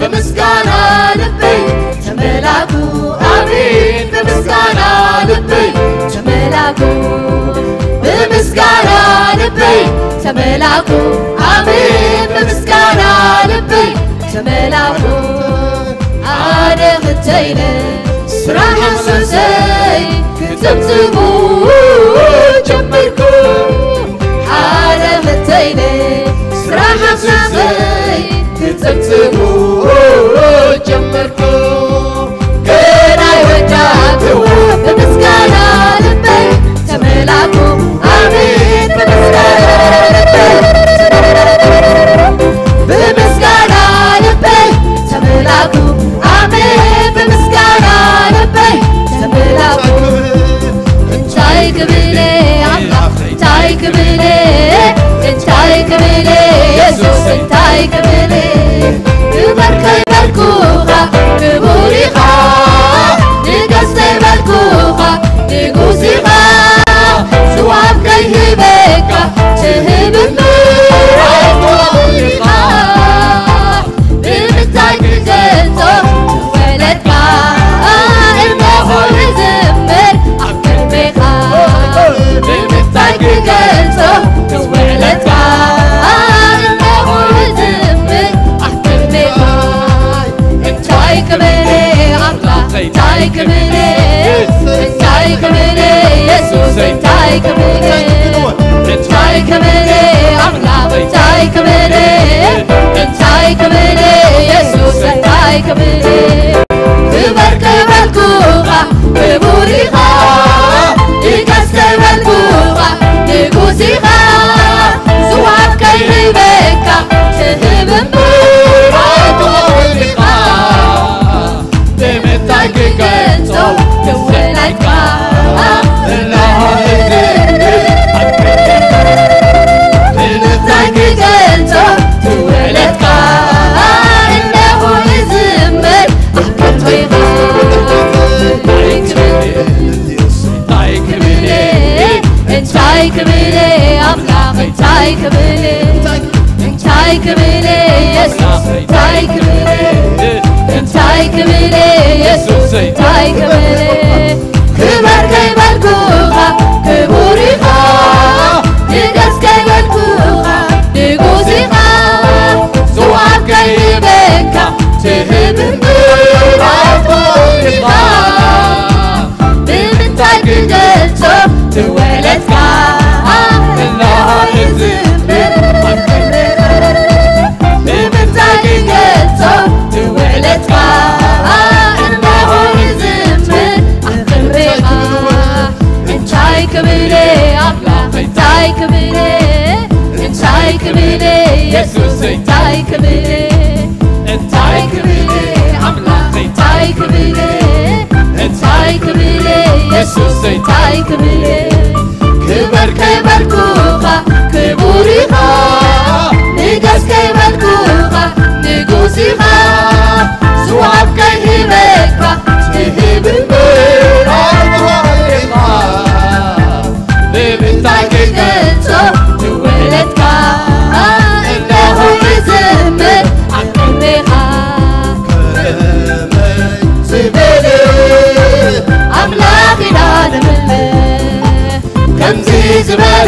ብምስጋና ልበይ ተመላኩ፣ ኣሜን። ብምስጋና ልበይ ተመላኩ፣ ብምስጋና ልበይ ተመላኩ፣ ኣሜን። ብምስጋና ልበይ ተመላኩ። ሓደ ክልተ ኢለ ስራሕ ኣፍሰሰይ ክጽብጽቡ ጀመርኩ። ሓደ ክልተ ኢለ ስራሕ ኣፍሰሰይ ክጽብጽቡ ጀመርኩ። ገና ይወዳእክዎ ብምስጋና ልበይ ተመላኩ። ኣሜን። ብምስጋና ልበይ ተመላኩ። ብምስጋና ልበይ ተመላኩ። ኣሜን። ብምስጋና ልበይ ተመላኩ። እንታይ ክብል ኣምላኽ፣ እንታይ ክብል፣ እንታይ ክብል የሱስ፣ እንታይ ክብል? ግበር ከይበልኩኻ ክቡር ኢኻ፣ ንገስ ከይበልኩኻ ንጉስ ኢኻ፣ ዝዋብ ከይህበካ ትህብ እምበር ኣይትወሃብ ኢኻ። ብምንታይ ክገልጾ ወለድካ? እነሆ ይዝምር ኣብ ቅድሜኻ። ብምንታይ ክገልጾ ወለድካ? እነሆ ይዝምር ኣብ ቅድሜኻ። እንታይ ክብል ኣምላኽ፣ እንታይ ክብል፣ እንታይ ክብል የሱስ፣ እንታይ ክብል፣ እንታይ ክብል ኣምላኽ፣ እንታይ ክብል፣ እንታይ ክብል የሱስ፣ እንታይ ክብል? ግበር ከይበልኩኻ ክቡር ኢኻ፣ ንገስ ከይበልኩኻ ንጉስ ኢኻ፣ ዝዋብ ከይህበካ ትህብ እምበር ኣይትወሃብ ኢኻ። ብምንታይ ክገልጾ ትወለድካ? እነሆ እዝምር ኣብ ቅድሜኻ። ብምንታይ ክገልጾ ትወለድካ? እነሆ እዝምር ኣብ ቅድሜኻ። እንታይ ክብል፣ እንታይ ክብል፣ እንታይ ክብል ኣምላኽ፣ እንታይ ክብል፣ እንታይ ክብል የሱስ፣ እንታይ ክብል፣ እንታይ ክብል የሱስ፣ እንታይ ክብል? ክበር ከይበልኩኻ ክቡር ኢኻ፣ ንገስ ከይበልኩኻ ንጉስ ኢኻ፣ ዝዋብ ከይህበካ ትህብ እምበር ኣይትወሃብ ኢኻ። ብምንታይ ክገልጾ ትወለድካ? እነሆ ይዝምር ኣብ ቅድሜኻ። ብምንታይ ክገልጾ ትውዕለትካ? እነሆ ይዝምር ኣብ ቅድሜኻ። እንታይ ክብል ኣምላኽ፣ እንታይ ክብል፣ እንታይ ክብል የሱስ፣ እንታይ ክብል፣ እንታይ ክብል ኣምላኽ፣ እንታይ ክብል፣ እንታይ ክብል የሱስ፣ እንታይ ክብል? ክበር ከይበልኩኻ ክቡር ኢኻ፣ ንገስ ከይበልኩኻ ንጉስ ኢኻ፣ ዝወሃብ ከይህበካ ትህብ እምበር ኣይትወሃብ ኢኻ። ብምንታይ ክገልጾ ትውዕለትካ? እነሆ ይዝምር ኣብ ቅድሜኻ። ከመይ ዝበለ ኣምላኽ ኢና ነምልኽ፣ ከምዚ ዝበለ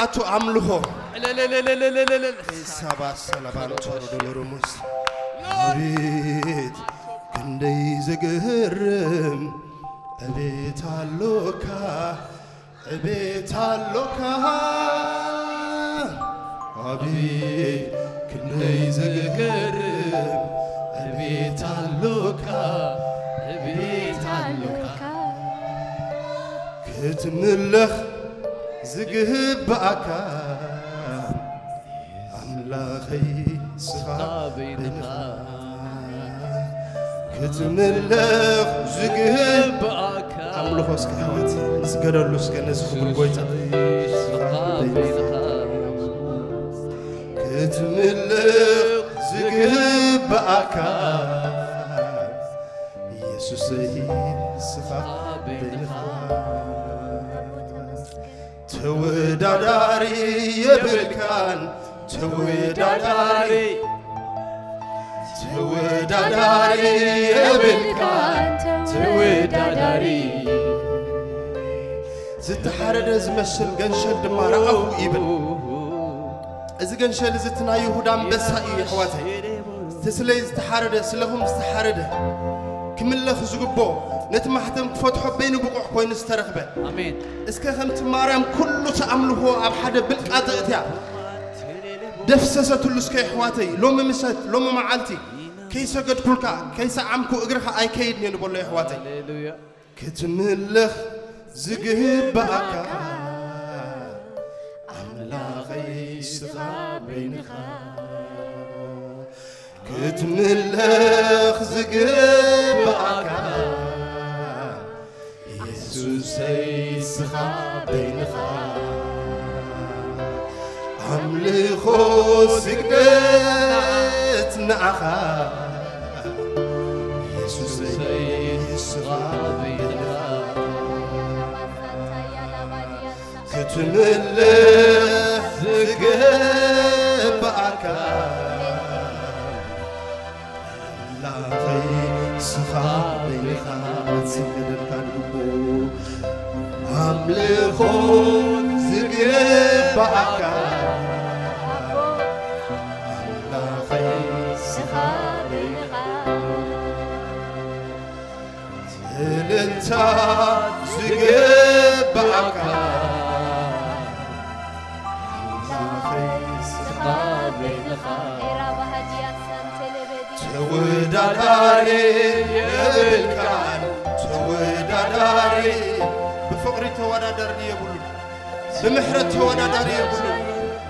ዝኣቱ ኣምልኾ። ሳባ ሰላባን ቶሮዶሎሮሙስ። ኣቤት ክንደይ ዝግርም፣ ዕቤት ኣሎካ፣ ዕቤት ኣሎካ። ኣቤት ክንደይ ዝግርም፣ ዕቤት ኣሎካ፣ ዕቤት ኣሎካ። ክትምለኽ ዝግብኣካ ኣምላኸይ ስኻ በይንኻ። ክትምለኽ ዝግብኣካ ኣምልኾ እስከ ህይወት ንስገደሉ እስከ ነዚ ክቡር ጎይታ። ስኻ በይንኻ። ክትምለኽ ዝግብኣካ ኢየሱሰይ ስኻ በይንኻ። ተወዳዳሪ የብልካን ተወዳዳሪ፣ ተወዳዳሪ የብልካን ተወዳዳሪ። ዝተሓረደ ዝመስል ገንሸል ድማ ረኣኹ ይብል። እዚ ገንሸል እዚ እቲ ናይ ይሁዳ ኣንበሳ እዩ፣ የሕዋተይ። እቲ ስለይ ዝተሓረደ፣ ስለኹም ዝተሓረደ፣ ይምለኽ ዝግብኦ፣ ነቲ ማሕተም ክፈትሖ በይኑ ብቑዕ ኮይኑ ዝተረኽበ። ኣሜን። እስከ ከምቲ ማርያም ኩሉ እቲ ኣምልኾ ኣብ ሓደ ብልቃጥ እትያ ደፍሰሰትሉ፣ እስከ የሕዋተይ፣ ሎሚ ምሸት፣ ሎሚ መዓልቲ ከይሰገድኩልካ፣ ከይሰዓምኩ እግርኻ ኣይከይድን እየ ንበሎ የሕዋተይ። ሃሌሉያ። ክትምለኽ ዝግብኣካ ኣምላኸይ እስኻ በይንኻ። ክትምለኽ ዝግብኣካ የሱሰይ እስኻ በይንኻ። ኣምልኾ ስግደት ንዓኻ የሱሰይ እስኻ በይንኻ። ክትምለኽ ዝግብኣካ ኣምላኸይ እስኻ በይንኻ ዝገደልካ ልቡ ኣምልኾ ዝግብኣካ ኣምላኸይ እስኻ በይንኻ እልልታ ዝግባእካ ኣምላኸይ እስኻ በይንኻ። ተወዳዳሪ የብልካን፣ ተወዳዳሪ ብፍቕሪ ተወዳዳሪ የብሉን። ብምሕረት ተወዳዳሪ የብሉን።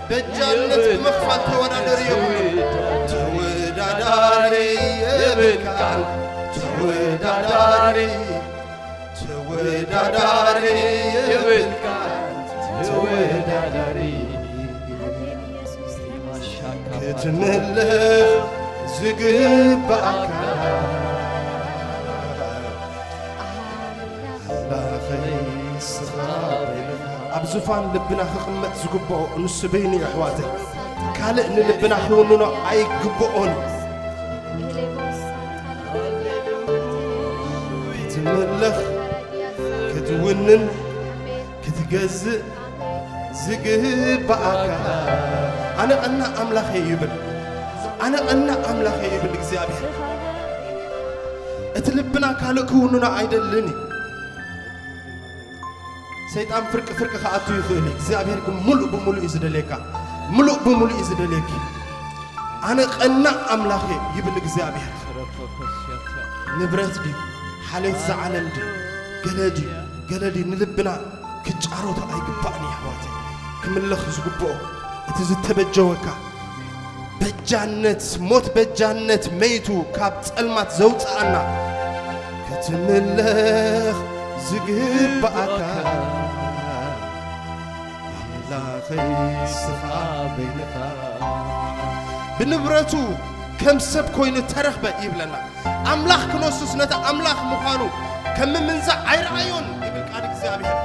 በጃነት ብምኽፋል ተወዳዳሪ የብሉን። ተወዳዳሪ የብልካን፣ ተወዳዳሪ፣ ተወዳዳሪ የብልካን፣ ተወዳዳሪ ክትምለኽ ዝግባእካ ኣምላኸይ እስኻ በይንኻ። ኣብ ዙፋን ልብና ክቕመጥ ዝግብኦ ንሱ በይኑ እዩ ኣሕዋተይ። ካልእ ንልብና ክውንኖ ኣይግብኦን እዩ። ክትምለኽ ክትውንን ክትገዝእ ዝግባኣካ ኣነ ቀናእ ኣምላኽ እየ ይብል። ኣነ ቀናእ ኣምላኽ እየ ይብል እግዚኣብሔር። እቲ ልብና ካልእ ክውንኖ ኣይደልን እዩ። ሰይጣን ፍርቂ ፍርቂ ክኣቱ ይኽእል እዩ። እግዚኣብሔር ግን ሙሉእ ብሙሉእ እዩ ዝደልየካ። ሙሉእ ብሙሉእ እዩ ዝደልየኪ። ኣነ ቀናእ ኣምላኽ እየ ይብል እግዚኣብሔር። ንብረት ድዩ? ሓልዮት እዛ ዓለም ድዩ? ገለ ድዩ? ገለ ድዩ? ንልብና ክጫሮቶ ኣይግባእን እዩ ኣሕዋተይ። ክምለኽ ዝግብኦ እቲ ዝተበጀወካ በጃነት፣ ሞት በጃነት መይቱ ካብ ጸልማት ዘውጽኣና ክትምለኽ ዝግባኣካ ኣምላኸይ እስኻ በይንኻ። ብንብረቱ ከም ሰብ ኮይኑ ተረኽበ ይብለና። ኣምላኽ ክነሱስ ነቲ ኣምላኽ ምዃኑ ከም ምምንዛዕ ኣይረኣዮን ይብል ቃል እግዚኣብሔር።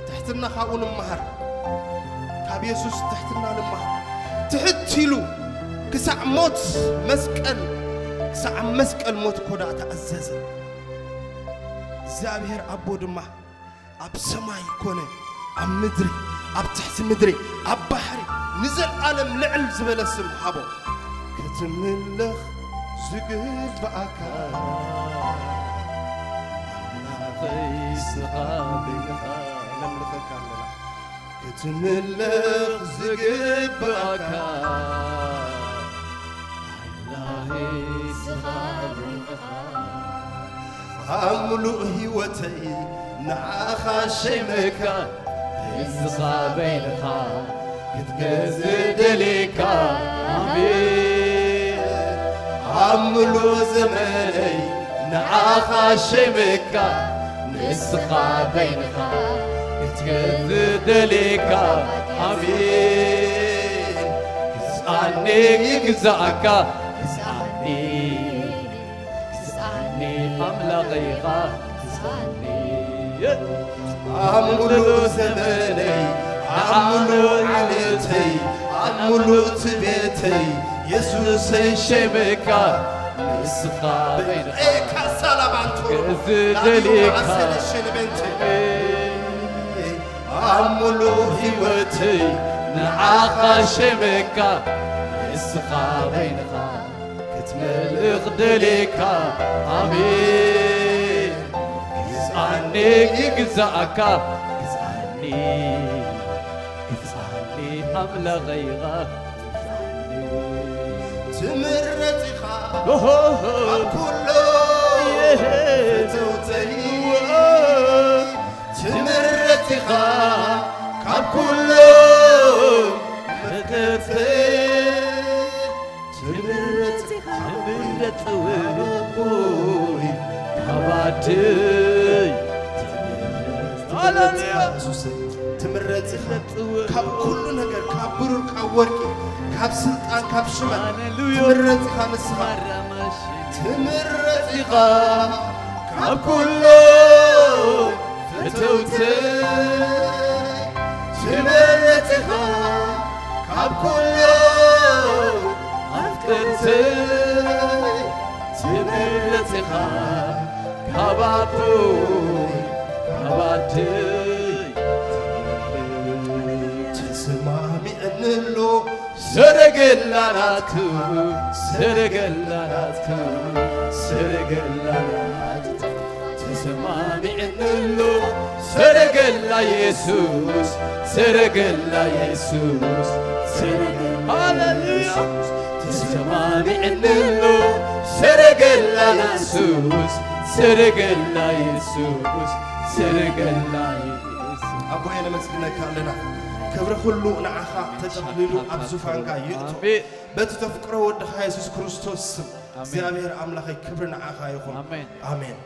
ትሕትና ካብኡ ንምሃር። ካብ የሱስ ትሕትና ንምሃር። ትሕት ኢሉ ክሳዕ ሞት መስቀል፣ ክሳዕ ኣብ መስቀል ሞት እኮ ደኣ ተኣዘዘ። እግዚኣብሔር ኣቦ ድማ ኣብ ሰማይ ኮነ፣ ኣብ ምድሪ፣ ኣብ ትሕቲ ምድሪ፣ ኣብ ባሕሪ ንዘለኣለም ልዕል ዝበለ ስም ሃቦ። ክትምለኽ ዝግባኣካ ኣምላኸይ እስኻ በይንኻ። ነምልኸካ ኣለና። ክትምለኽ ዝግባኣካ ኣምላኸይ እስኻ በይንኻ። ኣብ ምሉእ ህይወተይ ንዓኻ ሸይመካ። እስኻ በይንኻ ክትገዝእ ደልየካ። ኣሜን። ኣብ ምሉእ ዘመነይ ንዓኻ ሸይመካ። ንስኻ በይንኻ ክትገዝእ ደልየካ። ኣሜን። ግዝኣኒ ይግዛእካ። ግዝኣኒ ግዝኣኒ ኣምላኸይ ኢኻ ግዝኣኒ። ኣብ ምሉእ ዘመነይ፣ ኣብ ምሉእ ዓሌተይ፣ ኣብ ምሉእ እቲ ቤተይ፣ የሱሰይ ሸይመካ። ንስኻ በይንኻ ኤካሳላባንቶ ግእዝ ደሊካ። ኣሰለሽን በንቲ ኣብ ሙሉእ ህይወተይ ንዓኻ ሸመካ። ንስኻ በይንኻ ክትመልኽ ደሊካ። ኣሜን። ግዝኣኒ ይግዛእካ። ግዝኣኒ፣ ግዝኣኒ ኣምላኸይ ኢኻ። ትምረጽ ኢኻ ኦሆሆ። ካብ ኩሎም የሄ። ፍትውተይ። ትምረጽ ኢኻ ካብ ኩሎም ፍቅርተይ። ትምረጽ ኢኻ ትምረጽ ካብ ኣቦይ ካብ ኣደይ። ሃሌሉያ። የሱሰይ፣ ትምረጽ ኢኻ። ካብ ኩሉ ነገር፣ ካብ ብሩር፣ ካብ ወርቂ፣ ካብ ስልጣን፣ ካብ ሽመት ሃሌሉያ። ትምረጽ ኢኻ ንስኻ። ማራማሽ። ትምረጽ ኢኻ ካብ ኩሉ ፍትውተይ። ትምረጽ ኢኻ ካብ ኩሉ ኣፍቅርተይ። ትምረጽ ኢኻ ካብ ኣቦይ ካብ ኣደይ። ተሰማሚዕኒ ኣሎ ሰረገላ ናትካ፣ ሰረገላ ናትካ፣ ሰረገላ ናትካ። ተሰማሚዕኒ ኣሎ ሰረገላ የሱስ፣ ሰረገላ የሱስ፣ ሰረገላ ሃሌሉያ። የሱስ። ተሰማሚዕኒ ኣሎ ሰረገላ የሱስ፣ ሰረገላ የሱስ፣ ሰረገላ የሱስ። ኣቦዬ ነመስግነካ ኣለና። ክብሪ ኩሉ ንዓኻ ተጠቕሊሉ ኣብ ዙፋንካ ይእቶ። ኣሜን። በቲ ተፍቅሮ ወድኻ የሱስ ክርስቶስ ስም ኣሜን። እግዚኣብሔር ኣምላኸይ ክብሪ ንዓኻ ይኹን። ኣሜን። ኣሜን።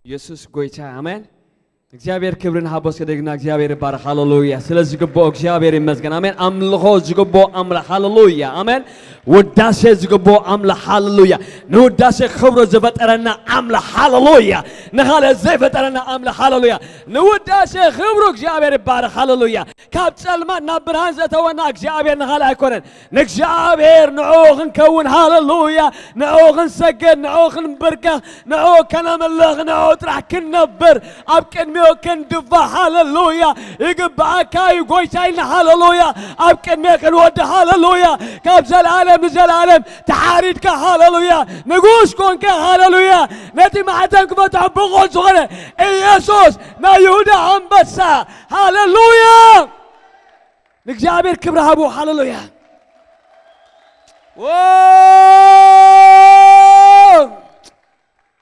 የሱስ ጎይታ፣ ኣሜን። እግዚኣብሔር ክብሪ ንሃቦ፣ እስከ ደግና እግዚኣብሔር ይባረክ። ሃሌሉያ። ስለ ዝግብኦ እግዚኣብሔር ይመስገን። ኣሜን። ኣምልኾ ዝግብኦ ኣምላኽ። ሃሌሉያ። ኣሜን። ውዳሴ ዝግብኦ ኣምላኽ። ሃሌሉያ። ንውዳሴ ክብሩ ዝፈጠረና ኣምላኽ። ሃሌሉያ። ንኻልእ ዘይፈጠረና ኣምላኽ። ሃሌሉያ። ንውዳሴ ክብሩ እግዚኣብሔር ይባረክ። ሃሌሉያ። ካብ ጸልማት ናብ ብርሃን ዘእተወና እግዚኣብሔር ንኻልእ ኣይኮነን። ንእግዚኣብሔር ንዕኡ ክንከውን፣ ሃሌሉያ፣ ንዕኡ ክንሰግድ፣ ንዕኡ ክንብርከኽ፣ ንዕኡ ከነምልኽ፣ ንዕኡ ጥራሕ ክንነብር፣ ኣብ ቅድሚኡ ክንድፋእ፣ ሃሌሉያ፣ ይግብኣካ እዩ ጎይታ ኢልና፣ ሃሌሉያ፣ ኣብ ቅድሚኡ ክንወድቕ፣ ሃሌሉያ፣ ካብ ዘለኣለም ንዘለኣለም ተሓሪድካ፣ ሃሌሉያ፣ ንጉስ ኮንካ፣ ሃሌሉያ፣ ነቲ ማዕተብ ክፈትሖ ብቑዕ ዝኾነ ኢየሱስ ናይ ይሁዳ ኣንበሳ፣ ሃሌሉያ። ንእግዚኣብሔር ክብሪ ሃቡ። ሃሌሉያ። ዎ!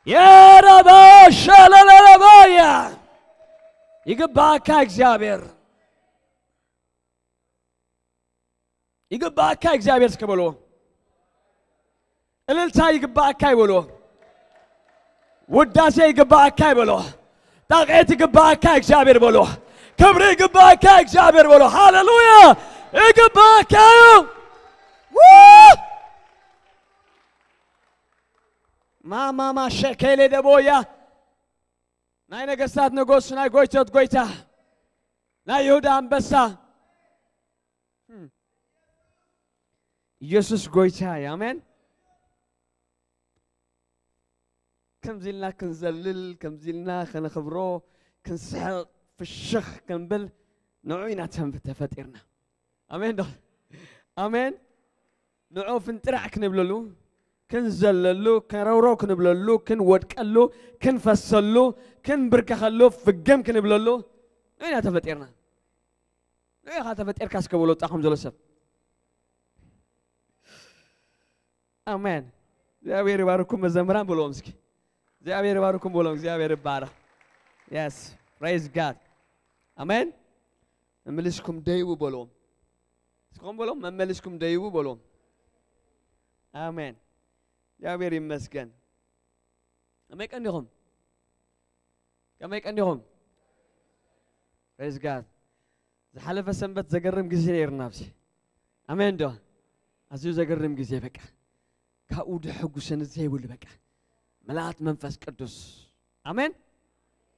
የረባ ሸለለለባያ። ይግባእካ እግዚኣብሔር። ይግባእካ እግዚኣብሔር እስከ በሎ። እልልታ ይግባእካ ይበሎ። ውዳሴ ይግባእካ ይበሎ። ጣቕዒት ይግባእካ እግዚኣብሔር በሎ። ክብሪ ይግባእካ እግዚኣብሔር በሎ። ሃሌሉያ! ይግባእካ እዩ። ው! ማማማ ሸኬሌ ደቦያ፣ ናይ ነገስታት ንጉስ፣ ናይ ጎይቶት ጎይታ፣ ናይ ይሁዳ ኣንበሳ። ኢየሱስ ጎይታ እዩ። ኣሜን። ከምዚ ኢልና ክንዘልል፣ ከምዚ ኢልና ከነኽብሮ፣ ክንስሕቕ፣ ፍሽኽ ክንብል ንዑ ኢና ተም-፣ ተፈጢርና። ኣሜን ዶ? ኣሜን። ንዑ ፍንጥራዕ ክንብለሉ፣ ክንዘለሉ፣ ከረውረው ክንብለሉ፣ ክንወድቀሉ፣ ክንፈሰሉ፣ ክንብርከኸሉ፣ ፍግም ክንብለሉ ንዑ ኢና ተፈጢርና። ንዑ ኢኻ ተፈጢርካ እስከ በሎ ጣኹም ዘሎ ሰብ። ኣሜን። እግዚኣብሔር ይባርኩም መዘምራን በልዎም እስኪ። እግዚኣብሔር ይባርኩም በልዎም። እግዚኣብሔር ይባረኽ። Yes, praise God. ኣሜን። መመሊስኩም ደይቡ በልዎም። እስኹም በልዎም፣ መመሊስኩም ደይቡ በልዎም። ኣሜን። እግዚኣብሔር ይመስገን። ከመይ ቀኒኹም? ከመይ ቀኒኹም? Praise God. ዝሓለፈ ሰንበት ዘገርም ግዜ ነይርና ኣብዚ። ኣሜን ዶ? ኣዝዩ ዘገርም ግዜ በቃ። ካብኡ ድሕጉሰኒ ዘይብሉ በቃ። ምልኣት መንፈስ ቅዱስ። ኣሜን።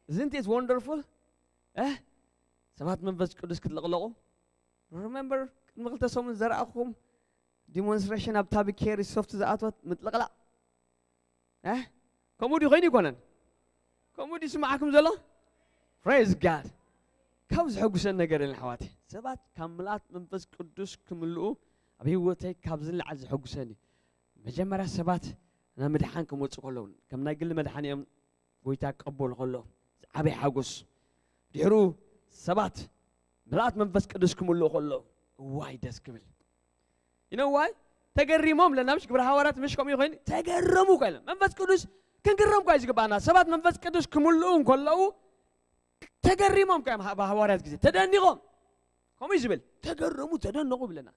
Isn't it wonderful? እ? ሰባት መንፈስ ቅዱስ ክትልቕለቑ። Remember ቅድሚ ክልተ ሰሙን ዘረኣኹም ዲሞንስትሬሽን ኣብ ታቢ ኬሪ ሶፍት ዝኣትወት ምጥልቕላቕ። እ? ከምኡ ድዩ ኮይኑ ይኮነን? ከምኡ ድዩ ስምዓኩም ዘሎ? Praise God። ካብ ዝሕጉሰን ነገር የለን ኣሕዋተይ። ሰባት ካብ ምልኣት መንፈስ ቅዱስ ክምልኡ ኣብ ህይወተይ ካብ ዝለዓል ዘሐጉሰኒ። መጀመርያ ሰባት ናብ ምድሓን ክመጹ ከለዉ፣ ከም ናይ ግሊ መድሓኒኦም ጎይታ ክቐበሉ ከለዉ፣ ዝዓበየ ሓጎስ። ድሕሩ ሰባት ምልኣት መንፈስ ቅዱስ ክምልኡ ከለዉ፣ እዋይ ደስ ክብል። You know why? ተገሪሞም ለና ምሽ ግብረ ሃዋርያት ምሽ ከምኡ ኮይኑ ተገረሙ እኮ ኢሎም። መንፈስ ቅዱስ ክንግረም እኮ እዩ ዝግባና። ሰባት መንፈስ ቅዱስ ክምልኡ እንከለዉ ተገሪሞም እኮ እዮም ሃ-፣ ብሃዋርያት ግዜ ተደኒቖም። ከምኡ እዩ ዝብል። ተገረሙ፣ ተደነቑ ይብለና።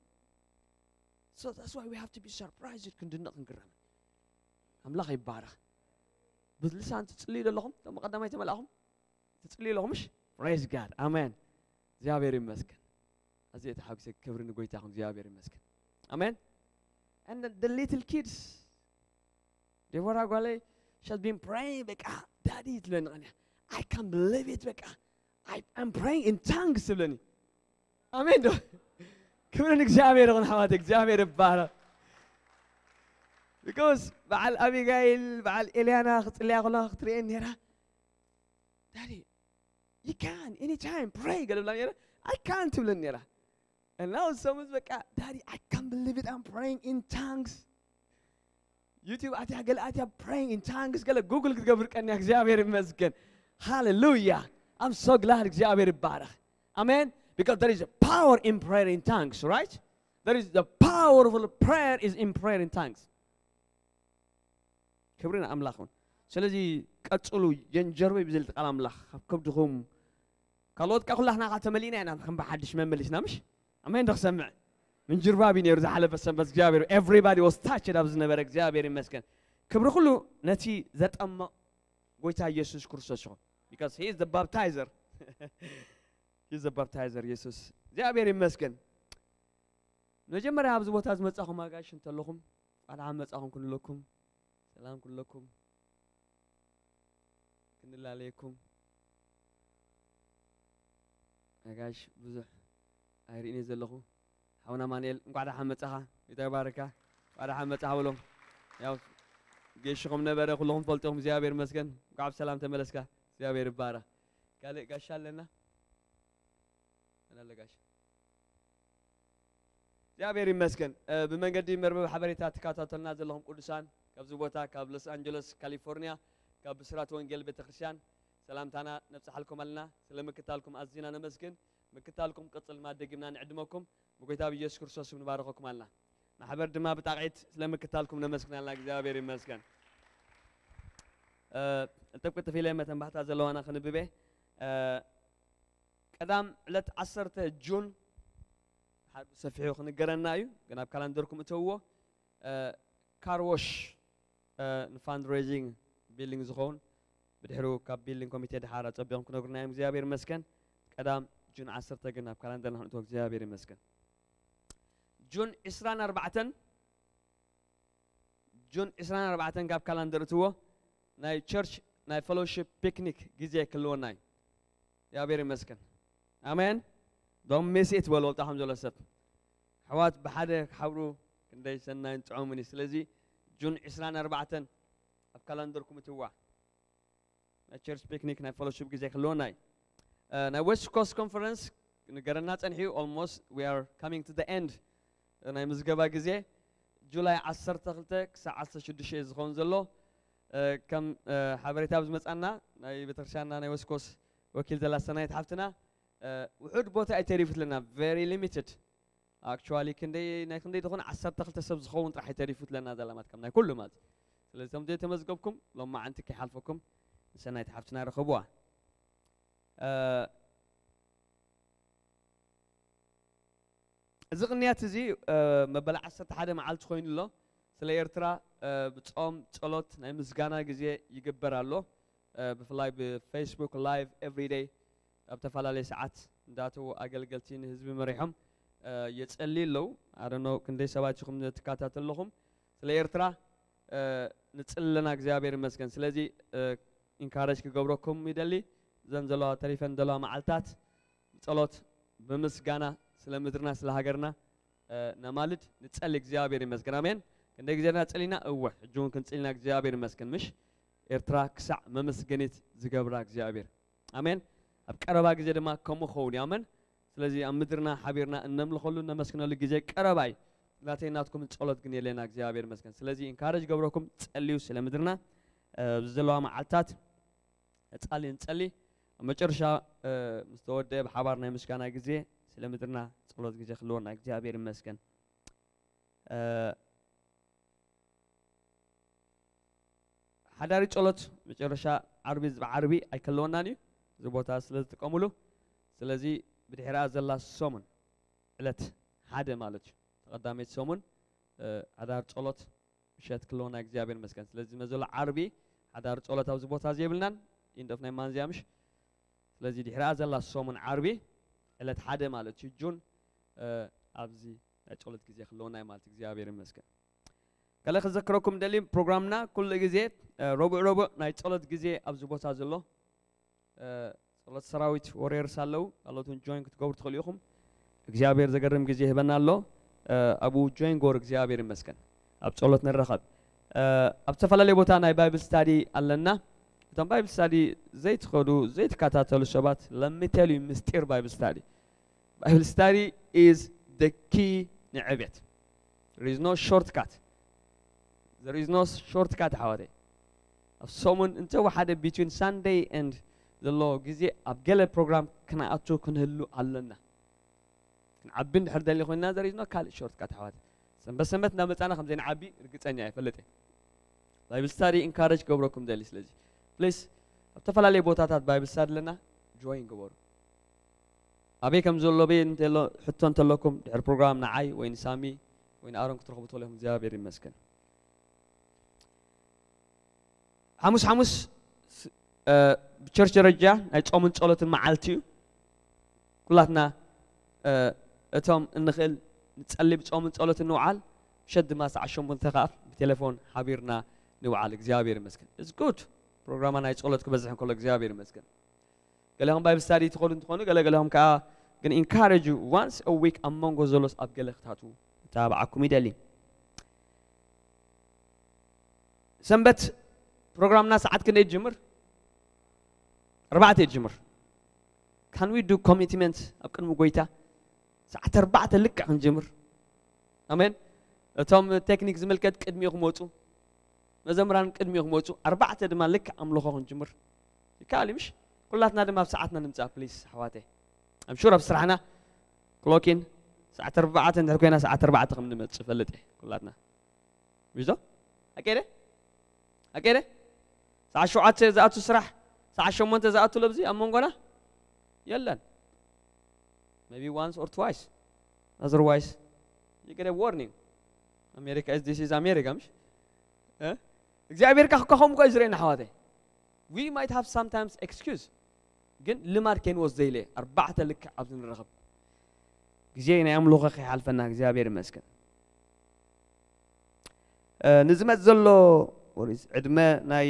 So that's why we have to be surprised ክንድነቕ ክንግረም። ኣምላኽ ይባረኽ። ብልሳን ትጽልዩ ዘለኹም፣ እቶም ቀዳማይ ተመላእኹም ትጽልዩ ኣለኹም ምሽ? Praise God. ኣሜን። እግዚኣብሔር ይመስገን። ኣዝየ ተሓጒሰ። ክብሪ ንጎይታ ይኹን። እግዚኣብሔር ይመስገን። ኣሜን። And the little kids፣ ዴቦራ ጓለይ፣ she has been praying፣ በቃ ዳዲ ትብለኒ ቀንያ። I can't believe it፣ በቃ I am praying in tongues ትብለኒ። ኣሜን ዶ? ክብሪ ንእግዚኣብሔር ይኹን ኣሕዋት፣ እግዚኣብሔር ይባረኽ። Because በዓል ኣቢጋይል፣ በዓል ኤልያና ክጽልያ ከለዋ ክትርእየን ነይራ። ዳዲ፣ you can anytime pray ገለ ብላ ነይራ። I can't ትብለኒ ነይራ። And now some በቃ ዳዲ I can't believe it, I'm praying in tongues። ዩቲዩብ ኣትያ ገለ ኣትያ praying in tongues ገለ ጉግል ክትገብር ቀንያ። እግዚኣብሔር ይመስገን። ሃሌሉያ። I'm so glad። እግዚኣብሔር ይባረኽ። ኣሜን። Because there is a power in prayer in tongues, right? There is the powerful prayer is in prayer in tongues። ክብሪ ንኣምላኽ ይኹን። ስለዚ ቀጽሉ፣ ጀንጀርበይ ብዝብል ቃል ኣምላኽ ካብ ከብድኹም። ካልኦት ካ ኩላህና ካ ተመሊእና ኢና ከም ብሓድሽ መመሊስና ምሽ? ኣሜን ዶ ክሰምዕ? ምንጅርባብ እዩ ነይሩ ዝሓለፈ ሰንበት እግዚኣብሔር። Everybody was touched ኣብ ዝነበረ እግዚኣብሔር ይመስገን። ክብሪ ኩሉ ነቲ ዘጠመቕ ጎይታ ኢየሱስ ክርስቶስ ይኹን። Because he is the baptizer። He is the baptizer፣ ኢየሱስ። እግዚኣብሔር ይመስገን። መጀመርያ ኣብዚ ቦታ ዝመጻኹም ኣጋይሽ እንተለኹም፣ እንኳዕ ደሓን መጻኹም ክንብለኩም፣ ሰላም ክንብለኩም፣ ክንላለየኩም። ኣጋይሽ ብዙሕ ኣይርእን እየ ዘለኹ። ሓውና ኣማኑኤል፣ እንኳዕ ደሓን መጻኻ። ጎይታ ይባርካ። እንኳዕ ደሓን መጻኻ በሎም። ያው ጌሽኹም ነበረ፣ ኩለኹም ትፈልጥኹም። እግዚኣብሔር ይመስገን። እንኳዕ ብሰላም ተመለስካ። እግዚኣብሔር ይባረኽ። ካልእ ጋሻ ኣለና? መን ኣሎ ጋሻ? እግዚኣብሔር ይመስገን። እ፣ ብመንገዲ መርበብ ሓበሬታ ትከታተሉና ዘለኹም ቅዱሳን፣ ካብዚ ቦታ ካብ ሎስ ኣንጀለስ ካሊፎርኒያ፣ ካብ ብስራት ወንጌል ቤተክርስትያን ሰላምታና ነብጽሓልኩም ኣለና። ስለ ምክታልኩም ኣዚና ነመስግን። ምክታልኩም ቅጽል ድማ ደጊምና ንዕድመኩም። ብጎይታ ብኢየሱስ ክርስቶስ ስም ንባርኸኩም ኣለና። ማሕበር ድማ ብጣቕዒት ስለ ምክታልኩም ነመስግን ኣለና። እግዚኣብሔር ይመስገን። እ፣ ቅልጥፍ ቅልጥፍ ኢለ መተንባሕታ ዘለዋና ክንብቤ። እ፣ ቀዳም ዕለት ዓሰርተ ጁን፣ ሓ-፣ ብሰፊሑ ክንገረና እዩ፣ ግን ኣብ ካላንደርኩም እተውዎ። እ፣ ካርዎሽ፣ እ፣ ንፋንድሬዚንግ ቢልዲንግ ዝኸውን፣ ብድሕሩ ካብ ቢልዲንግ ኮሚቴ ድሓር ኣጸቢቖም ክነግሩና እዮም። እግዚኣብሔር ይመስገን። ቀዳም ጁን ዓሰርተ ግን ኣብ ካላንደርና ክንእትዎ እግዚኣብሔር ይመስገን። ጁን ዕስራን ኣርባዕተን፣ ጁን ዕስራን ኣርባዕተን ካብ ካላንደር እትዎ፣ ናይ ቸርች ናይ ፌሎሺፕ ፒክኒክ ግዜ ክህልወና እዩ። እግዚኣብሔር ይመስገን። ኣሜን። Don't miss it በሉ፣ ወልጣኹም ዘሎ ሰብ። ኣሕዋት ብሓደ ክሓብሩ ደይ ሰናይን ጥዑምን እዩ። ስለዚ ጁን ዕስራን ኣርባዕተን ኣብ ካላንደርኩም እትዋ ናይ ቸርች ፒክኒክ ናይ ፌሎሺፕ ግዜ ክህልወና እዩ። እ፣ ናይ ዌስት ኮስት ኮንፈረንስ ንገረና ጸንሕዩ። Almost we are coming to the end ናይ ምዝገባ ግዜ ጁላይ ዓሰርተ ክልተ ክሳዕ ዓሰርተ ሽዱሽተ እዩ ዝኸውን ዘሎ። እ፣ ከም እ፣ ሓበሬታ ኣብ ዝመጻና ናይ ቤተክርስትያንና ናይ ዌስት ኮስት ወኪል ዘላ ሰናይት ሓፍትና እ፣ ውሑድ ቦታ እዩ ተሪፉትለና። Very limited actually። ክንደይ ናይ ክንደይ ዝኾነ ዓሰርተ ክልተ ሰብ ዝኸውን ጥራሕ እዩ ተሪፉትለና ዘላ ማለት ከም ናይ ኩሉ ማለት እዩ። ስለዚ እቶም ዘይተመዝገብኩም ሎማዓንቲ ከይሓልፈኩም ንሰናይት ሓፍትና ረኸብዋ። እ፣ እዚ ቅንያት እዚ እ፣ መበል ዓሰርተ ሓደ መዓልቲ ኮይኑ ኣሎ። ስለ ኤርትራ እ፣ ብጾም ጸሎት ናይ ምስጋና ግዜ ይግበር ኣሎ። እ፣ ብፍላይ ብፌስቡክ ላይቭ ኤቭሪ ደይ ኣብ ተፈላለየ ሰዓት እንዳተዉ ኣገልገልቲ ንህዝቢ መሪሖም እ፣ የጸልዩ ኣለዉ። ኣደኖ ክንደይ ሰባት ኢኹም ትከታተሉ ኣለኹም። ስለ ኤርትራ እ፣ ንጽሊ ኣለና እግዚኣብሔር ይመስገን። ስለዚ እ፣ ኢንካረጅ ክገብረኩም ይደሊ። እዘን ዘለዋ ተሪፈን ዘለዋ መዓልታት ብጸሎት ብምስጋና ስለ ምድርና ስለ ሃገርና እ፣ ነማልድ ንጸሊ እግዚኣብሔር ይመስገን። ኣሜን። ክንደይ ግዜና ጸሊና እወ ሕጂ እውን ክንጽልና እግዚኣብሔር ይመስገን። ምሽ ኤርትራ ክሳዕ መመስገኒት ዝገብራ እግዚኣብሔር። ኣሜን። ኣብ ቀረባ ግዜ ድማ ከምኡ ክኸውን እዩ። ኣሜን። ስለዚ ኣብ ምድርና ሓቢርና እነምልኸሉ እነመስግነሉ ግዜ ቀረባ እዩ። ናተይ ናትኩም ጸሎት ግን የለና እግዚኣብሔር ይመስገን። ስለዚ ኢንካረጅ ገብረኩም ጸልዩ ስለ ምድርና እ፣ ኣብዚ ዘለዋ መዓልታት ጻሊ ንጸሊ። ኣብ መጨረሻ እ፣ ምስ ተወደአ ብሓባር ናይ ምስጋና ግዜ ስለ ምድርና ጸሎት ግዜ ክህልወና እግዚኣብሔር ይመስገን። እ፣ ሓዳሪ ጸሎት መጨረሻ ዓርቢ ዓርቢ ኣይከለወናን እዩ እዚ ቦታ ስለ ዝጥቀሙሉ። ስለዚ ብድሕሪኣ ዘላ ሰሙን ዕለት ሓደ ማለት እዩ ተቐዳመይቲ ሰሙን እ፣ ሓዳር ጸሎት ምሸት ክለውና እግዚኣብሔር ይመስገን። ስለዚ መዘሎ ዓርቢ ሓዳር ጸሎት ኣብዚ ቦታ እዚ የብልናን። ኢንድ ኦፍ ናይ ማንዝያ ምሽ። ስለዚ ድሕሪኣ ዘላ ሰሙን ዓርቢ ዕለት ሓደ ማለት እዩ ጁን እ፣ ኣብዚ ናይ ጸሎት ግዜ ክለውና እዩ ማለት እግዚኣብሔር ይመስገን። ከለ ክዘክረኩም ደሊ ፕሮግራምና ኩሉ ግዜ እ፣ ረቡዕ ረቡዕ ናይ ጸሎት ግዜ ኣብዚ ቦታ ዘሎ እ፣ ጸሎት ሰራዊት ወሬርስ ኣለዉ። ካልኦት እውን ጆይን ክትገብሩ ትኽእሉ ኢኹም። እግዚኣብሔር ዘገርም ግዜ ይህበና ኣሎ። እ፣ ኣብኡ ጆይን ጎር እግዚኣብሔር ይመስገን። ኣብ ጸሎት ንረኸብ። እ፣ ኣብ ዝተፈላለየ ቦታ ናይ ባይብል ስታዲ ኣለና። እቶም ባይብል ስታዲ ዘይትኸዱ ዘይትከታተሉ ሰባት ለሚቴሉ ምስጢር ባይብል ስታዲ። Bible study is the key ንዕቤት። There is no shortcut. There is no shortcut ኣሕዋተይ። ኣብ ሰሙን እንተወሓደ between Sunday and ዘሎ ግዜ ኣብ ገለ ፕሮግራም ክንኣቱ ክንህሉ ኣለና። ክንዓቢ እንድሕር ደሊ ኮይና there is no ካልእ shortcut ኣሕዋተይ። ሰንበት ሰንበት እንዳመጻና ከም ዘይንዓቢ ርግጸኛ እየ፣ ፈልጥ እየ። ባይብል ስታዲ ኢንካረጅ ክገብረኩም ደሊ። ስለዚ ፕሊስ ኣብ ተፈላለየ ቦታታት ባይብል ስታዲ ኣለና፣ ጆይን ግበሩ። ኣበይ ከም ዘሎ በይ እንተሎ ሕቶ እንተለኩም ድሕሪ ፕሮግራም ንዓይ ወይ ንሳሚ ወይ ንኣሮን ክትረኽቡ ትኽእሉ ኢኹም። እግዚኣብሔር ይመስገን። ሓሙስ ሓሙስ ስ- እ፣ ብቸርች ደረጃ ናይ ጾምን ጸሎትን መዓልቲ እዩ። ኩላትና እ፣ እቶም እንኽእል ንጸሊ ብጾምን ጸሎትን ንውዓል። ምሸት ድማ ሰዓት ሸሞንተ ከኣ ብቴሌፎን ሓቢርና ንውዓል። እግዚኣብሔር ይመስገን። It's good። ፕሮግራማ ናይ ጸሎት ክበዝሕ እንከሎ እግዚኣብሔር ይመስገን። ገለኹም ባይብል ስታዲ ትኸዱ እንትኾኑ ገለገለኹም ከዓ ግን ኢንካረጅ ዋንስ ዊክ ኣብ መንጎ ዘሎስ ኣብ ገለ ክታቱ እተባብዓኩም ይደሊ። ሰንበት ፕሮግራምና ሰዓት ክንደይ ትጅምር? ኣርባዕተ ትጅምር። Can we do commitment ኣብ ቅድሚ ጎይታ ሰዓት ኣርባዕተ ልክዕ ክንጅምር? ኣሜን። እቶም ቴክኒክ ዝምልከት ቅድሚኡ ክመፁ፣ መዘምራን ቅድሚኡ ክመፁ፣ ኣርባዕተ ድማ ልክዕ ኣምልኾ ክንጅምር ይከኣል እዩ ምሽ? ኩላትና ድማ ኣብ ሰዓትና ንምፃእ ፕሊስ ኣሕዋተይ። ኣምሹር ኣብ ስራሕና ክሎኪን ሰዓት ኣርባዕተ እንድሕር ኮይና ሰዓት ኣርባዕተ ከም ንመፅእ ፈልጥ እየ ኩላትና። ቢዞ ኣቀደ ኣቀደ ሰዓት ሸውዓተ ዝኣቱ ስራሕ ሰዓት ሸሞንተ ዝኣቱ ለብዚ ኣብ መንጎና የለን። Maybe once or twice. Otherwise, you get a warning. America is, this is America, ምሽ? እ? እግዚኣብሔር ካኹ ከኸም እኮ እዩ ዝርእየና ኣሕዋተይ። We might have sometimes excuse. ግን ልማድ ከይንወስዶ ኢለ ኣርባዕተ ልክዕ ኣብዚ ንረኸብ ግዜ ናይ ኣምልኾ ከይሓልፈና እግዚኣብሔር ይመስገን። እ፣ ንዝመጽእ ዘሎ ወሪስ ዕድመ ናይ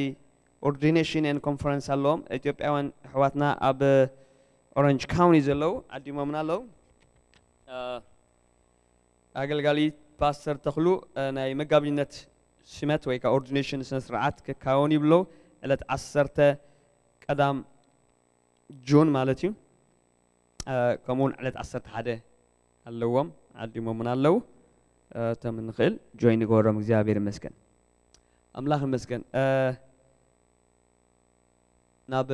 ኦርዲኔሽን ኤን ኮንፈረንስ ኣለዎም። ኢትዮጵያውያን ኣሕዋትና ኣብ ኦረንጅ ካውንቲ ዘለዉ ዓዲሞምና ኣለዉ። እ፣ ኣገልጋሊ ፓስተር ተኽሉ ናይ መጋቢነት ሽመት ወይ ከዓ ኦርዲኔሽን ስነ ስርዓት ክካወን ይብሎ ዕለት ዓሰርተ ቀዳም ጁን ማለት እዩ። ከምኡውን ዕለት ዓሰርተ ሓደ ኣለዎም፣ ዓዲሞምን ኣለዉ። እቶም እንኽእል ጆይን ንገበሮም። እግዚኣብሔር ይመስገን፣ ኣምላኽ ይመስገን። ናብ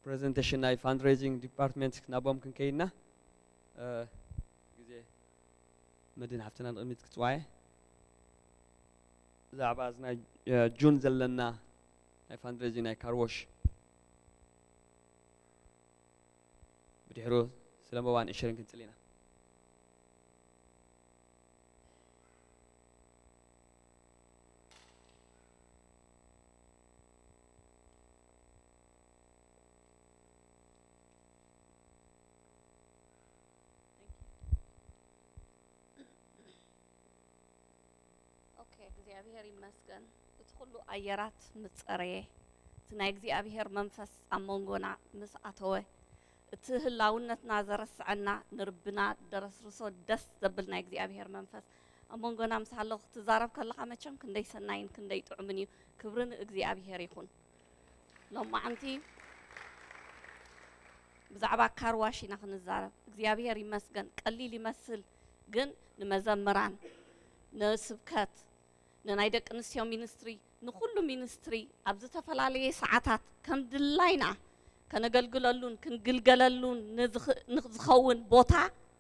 ፕሬዘንቴሽን ናይ ፋንድሬዚንግ ዲፓርትመንት ናቦም ክንከይድና ግዜ መድን ሃፍትና ንቕሚት ክትዋየ ብዛዕባ እዚ ናይ ጁን ዘለና ናይ ፋንድሬዚንግ ናይ ካርዎሽ ብድሕሩ ስለ መባን ዕሽርን ክንጽል ኢና። ኦኬ፣ እግዚኣብሔር ይመስገን። እቲ ኩሉ ኣየራት ምስ ጸረየ፣ እቲ ናይ እግዚኣብሔር መንፈስ ኣብ መንጎና ምስ ኣተወ፣ እቲ ህላውነትና ዘረስዐና፣ ንርብና ደረስርሶ ደስ ዘብል ናይ እግዚኣብሔር መንፈስ ኣብ መንጎና ምስ ሃሎ፣ ክትዛረብ ከለኻ መቸም ክንደይ ሰናይን ክንደይ ጥዑምን እዩ። ክብሪ ንእግዚኣብሔር ይኹን። ሎማዓንቲ ብዛዕባ ካርዋሽ ኢና ክንዛረብ። እግዚኣብሔር ይመስገን፣ ቀሊል ይመስል፣ ግን ንመዘምራን፣ ንስብከት፣ ንናይ ደቂ ኣንስትዮ ሚኒስትሪ፣ ንኹሉ ሚኒስትሪ ኣብ ዝተፈላለየ ሰዓታት ከም ድላይና ከነገልግለሉን ክንግልገለሉን ንዝኽ-፣ ንዝኸውን ቦታ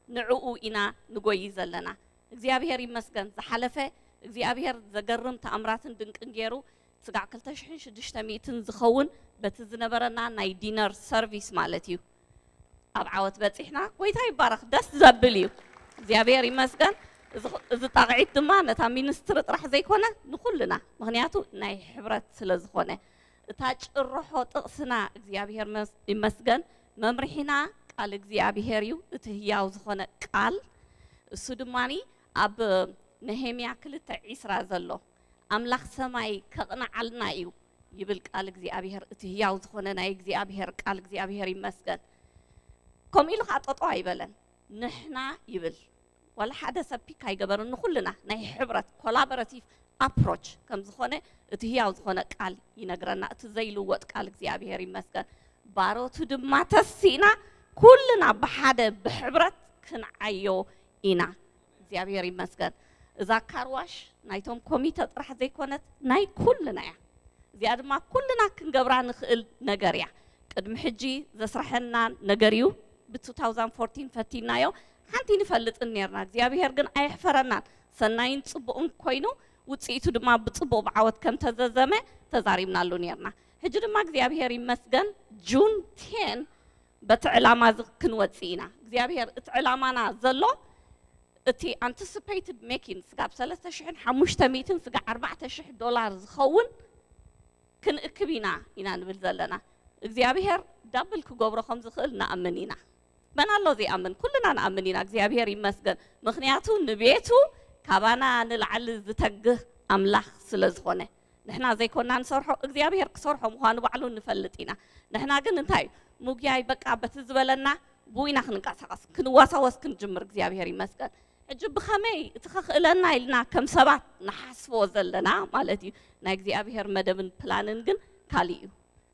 ንዕኡ ኢና ንጎይ ዘለና። እግዚኣብሔር ይመስገን፣ ዝሓለፈ እግዚኣብሔር ዘገርም ተኣምራትን ድንቅን ገይሩ ስጋዕ ክልተ ሽሕን ሽዱሽተ ሚእትን ዝኸውን በቲ ዝነበረና ናይ ዲነር ሰርቪስ ማለት እዩ። ኣብ ዓወት በጺሕና። ጎይታ ይባረኽ። ደስ ዘብል እዩ። እግዚኣብሔር ይመስገን። እዚ፣ እዚ ጣቕዒት ድማ ነታ ሚኒስትሪ ጥራሕ ዘይኮነ ንኹልና፣ ምኽንያቱ ናይ ሕብረት ስለ ዝኾነ። እታ ጭርሖ ጥቕስና እግዚኣብሔር መስ-፣ ይመስገን፣ መምርሒና ቃል እግዚኣብሔር እዩ፣ እቲ ህያው ዝኾነ ቃል። እሱ ድማኒ ኣብ ነሄምያ ክልተ ዒስራ ዘሎ ኣምላኽ ሰማይ ከቕንዓልና እዩ ይብል ቃል እግዚኣብሔር። እቲ ህያው ዝኾነ ናይ እግዚኣብሔር ቃል እግዚኣብሔር ይመስገን። ከምኡ ኢሉ ኸዓ ጠጠው ኣይበለን። ንሕና ይብል። ዋላ ሓደ ሰብ ፒክ ኣይገበርን። ንኹልና ናይ ሕብረት ኮላቦራቲቭ ኣፕሮች ከም ዝኾነ እቲ ህያው ዝኾነ ቃል ይነግረና። እቲ ዘይልወጥ ቃል እግዚኣብሔር ይመስገን። ባሮቱ ድማ ተሲእና ኩልና ብሓደ ብሕብረት ክንዓዮ ኢና። እግዚኣብሔር ይመስገን። እዛ ካርዋሽ ናይቶም ኮሚተ ጥራሕ ዘይኮነት ናይ ኩልና እያ። እዚኣ ድማ ኩልና ክንገብራ ንኽእል ነገር እያ። ቅድሚ ሕጂ ዘስርሐና ነገር እዩ። ብ two thousand fourteen ፈቲናዮ። ሓንቲ ንፈልጥን ኔርና። እግዚኣብሔር ግን ኣየሕፈረናን። ሰናይን ጽቡቕን ኮይኑ፣ ውጽኢቱ ድማ ብጽቡቕ ብዓወት ከም ተዘዘመ ተዛሪብናሉ ኔርና። ሕጂ ድማ እግዚኣብሔር ይመስገን፣ ጁን ቴን በቲ ዕላማ እዚ ክንወጽእ ኢና። እግዚኣብሔር እቲ ዕላማና ዘሎ፣ እቲ ኣንቲሲፔትድ ሜኪን ስጋብ ሰለስተ ሽሕን ሓሙሽተ ሚእትን ስጋብ ኣርባዕተ ሽሕ ዶላር ዝኸውን ክንእክብ ኢና ኢና ንብል ዘለና። እግዚኣብሔር ዳብል ክገብሮ ከም ዝኽእል ንኣምን ኢና። መን ኣሎ ዘይኣምን? ኩልና ንኣምን ኢና። እግዚኣብሔር ይመስገን። ምኽንያቱ ንቤቱ ካባና ንላዕሊ ዝተግህ ኣምላኽ ስለ ዝኾነ። ንሕና ዘይኮና ንሰርሖ፣ እግዚኣብሔር ክሰርሖ ምዃኑ ባዕሉ ንፈልጥ ኢና። ንሕና ግን እንታይ እዩ? ምጉያይ በቃ በቲ ዝበለና ብኡ ኢና ክንንቀሳቐስ፣ ክንዋሳወስ ክንጅምር። እግዚኣብሔር ይመስገን። ሕጂ ብኸመይ እቲ ከኽእለና ኢልና ከም ሰባት ንሓስቦ ዘለና ማለት እዩ። ናይ እግዚኣብሔር መደብን ፕላንን ግን ካልእ እዩ።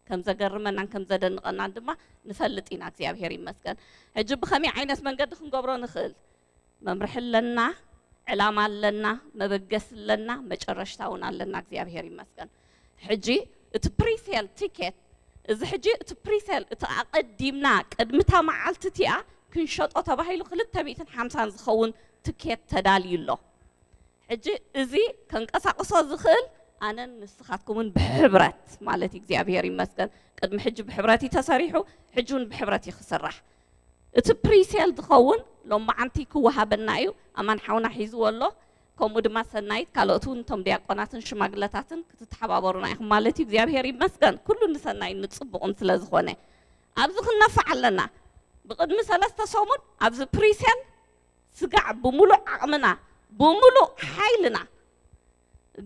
ከም ዘገርመናን ከም ዘደንቐናን ድማ ንፈልጥ ኢና። እግዚኣብሔር ይመስገን። ሕጂ ብኸመይ ዓይነት መንገዲ ክንገብሮ ንኽእል? መምርሒ ኣለና፣ ዕላማ ኣለና፣ መበገሲ ኣለና፣ መጨረሽታ እውን ኣለና። እግዚኣብሔር ይመስገን። ሕጂ እቲ ፕሪሴል ቲኬት፣ እዚ ሕጂ እቲ ፕሪሴል፣ እቲ ኣቐዲምና ቅድሚ እታ መዓልቲ እቲኣ ክንሸጦ ተባሂሉ ክልተ ሚእትን ሓምሳን ዝኸውን ትኬት ተዳልዩ ኣሎ። ሕጂ እዚ ከንቀሳቕሶ ዝኽእል ኣነን ንስኻትኩምን ብሕብረት ማለት እዩ። እግዚኣብሔር ይመስገን። ቅድሚ ሕጂ ብሕብረት እዩ ተሰሪሑ፣ ሕጂ እውን ብሕብረት እዩ ክስራሕ። እቲ ፕሪሴል ዝኸውን ሎማዓንቲ ክወሃበና እዩ። ኣማን ሓውና ሒዝዎ ኣሎ። ከምኡ ድማ ሰናይት፣ ካልኦት እውን እቶም ዲያቆናትን ሽማግለታትን ክትተሓባበሩና ኢኹም ማለት እዩ። እግዚኣብሔር ይመስገን። ኩሉ ንሰናይን ንጽቡቕን ስለ ዝኾነ። ኣብዚ ክንነፍዕ ኣለና። ብቕድሚ ሰለስተ ሰሙን ኣብዚ ፕሪሴል ስጋዕ ብምሉእ ዓቕምና፣ ብምሉእ ሓይልና።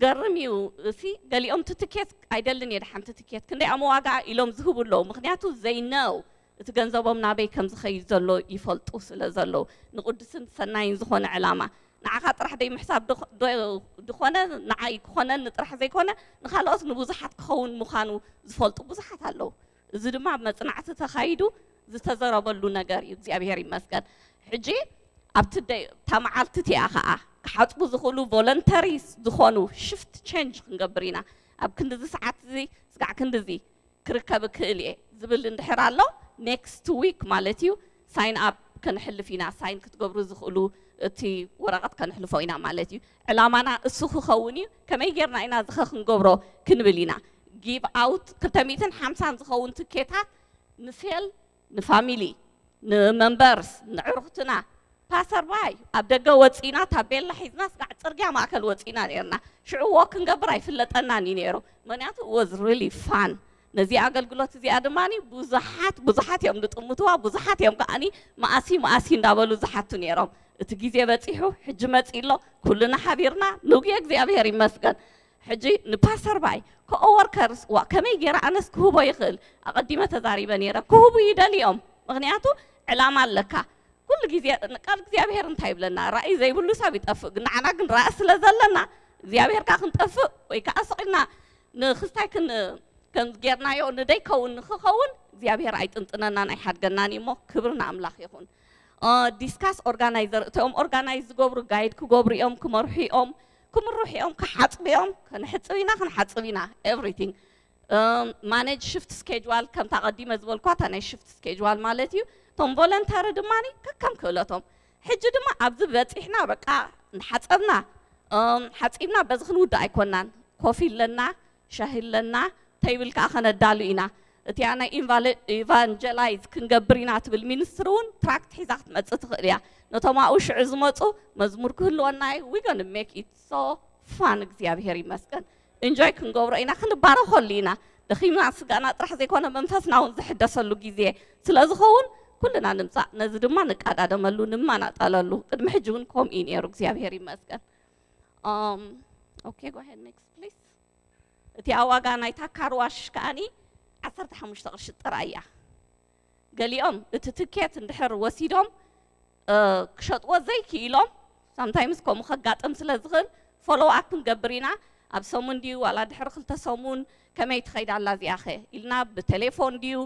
ገርም እዩ። እሲ ገሊኦም እቲ ትኬት ኣይደልን እየ፣ ደሓንቲ ትኬት ክንደይ ኣሞ ዋጋ ኢሎም ዝህቡ ኣለዉ። ምኽንያቱ ዘይነው እቲ ገንዘቦም ናበይ ከም ዝኸይድ ዘሎ ይፈልጡ ስለ ዘለዉ፣ ንቕዱስን ሰናይን ዝኾነ ዕላማ ንዓኻ ጥራሕ ደይ ምሕሳብ ድኾ-፣ ዶ-፣ ድኾነ ንዓይ ክኾነኒ ጥራሕ ዘይኮነ ንኻልኦት ንብዙሓት ክኸውን ምዃኑ ዝፈልጡ ብዙሓት ኣለዉ። እዚ ድማ ኣብ መጽናዕቲ ተኻይዱ ዝተዘረበሉ ነገር እዩ። እግዚኣብሔር ይመስገን። ሕጂ ኣብቲ ደይ-፣ እታ መዓልቲ እቲኣ ኸኣ ክሓጽቡ ዝኽእሉ ቮለንተሪ ዝኾኑ ሽፍት ቼንጅ ክንገብር ኢና። ኣብ ክንድዚ ሰዓት እዚ ስጋዕ ክንድዚ ክርከብ እክእል እየ ዝብል እንድሕር ኣሎ፣ ኔክስት ዊክ ማለት እዩ፣ ሳይን ኣፕ ከነሕልፍ ኢና። ሳይን ክትገብሩ ዝኽእሉ እቲ ወረቐት ከነሕልፎ ኢና ማለት እዩ። ዕላማና እሱ ክኸውን እዩ። ከመይ ጌርና ኢና ዝኸ ክንገብሮ ክንብል ኢና። ጊቭ ኣውት ክልተ ሚእትን ሓምሳን ዝኸውን ትኬታት ንሴል፣ ንፋሚሊ፣ ንመምበርስ፣ ንዕሩኽትና፣ ፓሰርባይ ኣብ ደገ ወፂና ታቤላ ሒዝና ስጋዕ ፅርግያ ማእከል ወፂና ነርና። ሽዑ ዎክ ክንገብር ኣይፍለጠናን እዩ ነይሩ። ምክንያቱ was really fun። ነዚ ኣገልግሎት እዚኣ ድማ ብዙሓት ብዙሓት እዮም ዝጥምትዋ፣ ብዙሓት እዮም ከዓኒ መኣሲ መኣሲ እንዳበሉ ዝሓቱ ነይሮም። እቲ ግዜ በፂሑ ሕጂ መፂ ኣሎ። ኩልና ሓቢርና ንጉየ እግዚኣብሔር ይመስገን። ሕጂ ንፓሰርባይ ኮወርከርስ ዋ ከመይ ገይረ ኣነስ ክህቦ ይኽእል? ኣቐዲመ ተዛሪበ ነይረ። ክህቡ ይደልዮም። ምክንያቱ ዕላማ ኣለካ። ኩሉ ግዜ ቃል እግዚኣብሔር እንታይ ይብለና? ራእይ ዘይብሉ ሰብ ይጠፍእ። ግን ንዓና ግን ራእይ ስለ ዘለና እግዚኣብሔር ከኣ ክንጠፍእ ወይ ከኣ ስቕ ኢልና ንክስታይ ክን-፣ ከም ጌርናዮ ንደይከውን ንክኸውን እግዚኣብሔር ኣይጥንጥነናን ኣይሓድገናን እዩ እሞ ክብሪ ንኣምላኽ ይኹን። ዲስካስ ኦርጋናይዘር እቶም ኦርጋናይዝ ዝገብሩ ጋይድ ክገብሩ እዮም፣ ክመርሑ እዮም፣ ክምርሑ እዮም፣ ክሓፅቡ እዮም። ከነሕፅብ ኢና፣ ክንሓፅብ ኢና። ኤቭሪቲንግ ማኔጅ ሽፍት ስኬጅዋል ከምታ ቀዲመ ዝበልኳ እታ ናይ ሽፍት ስኬጅዋል ማለት እዩ። እቶም ቮለንተሪ ድማ ከከም ክእለቶም። ሕጂ ድማ ኣብዚ በፂሕና በቃ ሓፀብና፣ እም፣ ሓፂብና በዚ ክንውዳእ ኣይኮናን። ኮፊ ኣለና፣ ሻሂ ኣለና፣ ተይብል ከዓ ከነዳሉ ኢና። እቲኣ ናይ ኢንቫለ-፣ ኢቫንጀላይዝ ክንገብር ኢና ትብል ሚኒስትሪ እውን ትራክት ሒዛ ክትመፅእ ትኽእል እያ። ነቶም ኣብኡ ሽዑ ዝመፁ መዝሙር ክህልወና እዩ። We gonna make it so fun። እግዚኣብሔር ይመስገን። ኢንጆይ ክንገብሮ ኢና፣ ክንባረኸሉ ኢና። ደኺምና ስጋና ጥራሕ ዘይኮነ መንፈስና እውን ዝሕደሰሉ ግዜ ስለ ዝኸውን ኩልና ንምፃእ፣ ነዚ ድማ ንቃዳደመሉ፣ ንመናጠለሉ። ቅድሚ ሕጂ እውን ከምኡ እዩ ነይሩ። እግዚኣብሔር ይመስገን። Um, okay, go ahead, next, please. እቲኣ ዋጋ ናይታ ካርዋሽ ከኣኒ ዓሰርተ ሓሙሽተ ቅርሺ ጥራይ እያ። ገሊኦም እቲ ትኬት እንድሕር ወሲዶም፣ እ፣ ክሸጥዎ ዘይክኢሎም፣ ሳምታይምስ ከምኡ ከጋጥም ስለ ዝኽእል፣ ፎሎው ኣፕ ክንገብር ኢና። ኣብ ሰሙን ድዩ ዋላ ድሕሪ ክልተ ሰሙን፣ ከመይ ትኸይድ ኣላ እዚኣኸ ኢልና ብቴሌፎን ድዩ፣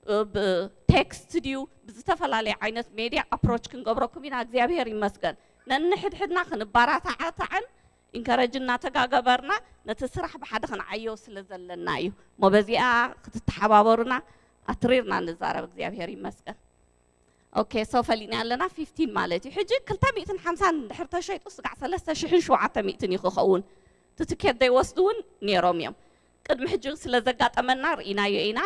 እ፣ ብቴክስት ድዩ፣ ብዝተፈላለየ ዓይነት ሜድያ ኣፕሮች ክንገብረኩም ኢና። እግዚኣብሔር ይመስገን። ነንሕድሕድና ክንባራታዕታዕን ኢንከረጅ እናተጋገበርና ነቲ ስራሕ ብሓደ ክንዓዮ ስለ ዘለና እዩ። እሞ በዚኣ ክትተሓባበሩና ኣትሪርና ንዛረብ። እግዚኣብሔር ይመስገን። ኦኬ፣ ሶ ፈሊጥና ኣለና ፊፍቲን ማለት እዩ። ሕጂ ክልተ ሚእትን ሓምሳን እንድሕር ተሸይጡ ስጋዕ ሰለስተ ሽሕን ሸውዓተ ሚእትን እዩ ክኸውን። እቲ ትኬት ዘይወስዱ እውን ነይሮም እዮም። ቅድሚ ሕጂ ስለ ዘጋጠመና ርኢናዮ ኢና።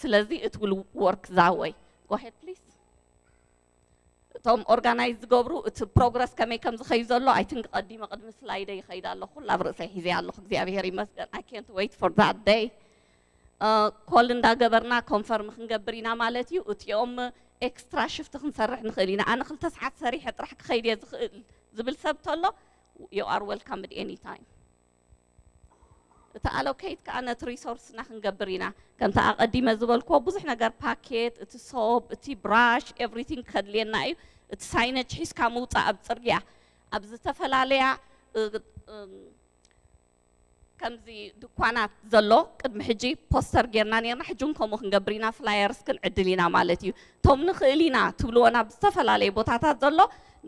ስለዚ it will work that way. Go ahead, please. እቶም ኦርጋናይዝ ዝገብሩ እቲ ፕሮግረስ ከመይ ከም ዝኸዩ ዘሎ፣ I think ቀዲመ ቅድሚ ስላይደ ይኸይድ ኣለኹ። ኩላ ኣብ ርእሰይ ሒዘ ኣለኹ። እግዚኣብሔር ይመስገን። I can't wait for that day. እ፣ ኮል እንዳገበርና ኮንፈርም ክንገብር ኢና ማለት እዩ። እቲኦም ኤክስትራ ሽፍት ክንሰርሕ ንኽእል ኢና። ኣነ ክልተ ሰዓት ሰሪሐ ጥራሕ ክኸይድ እየ ዝኽእል ዝብል ሰብ ተሎ፣ you are welcome at any time። እቲ ኣሎኬት ከኣ ነቲ ሪሶርስና ክንገብር ኢና። ከምቲ ኣቐዲመ ዝበልክዎ ብዙሕ ነገር፣ ፓኬት፣ እቲ ሶፕ፣ እቲ ብራሽ፣ ኤቭሪቲንግ ከድልየና እዩ። እቲ ሳይነጅ ሒዝካ ምውጻእ ኣብ ጽርግያ፣ ኣብ ዝተፈላለያ፣ እ፣ እ፣ ከምዚ ድኳናት ዘሎ ቅድሚ ሕጂ ፖስተር ጌርና ኔርና፣ ሕጂ እውን ከምኡ ክንገብር ኢና፣ ፍላየርስ ክንዕድል ኢና ማለት እዩ። እቶም ንኽእል ኢና ትብልዎ ናብ ዝተፈላለየ ቦታታት ዘሎ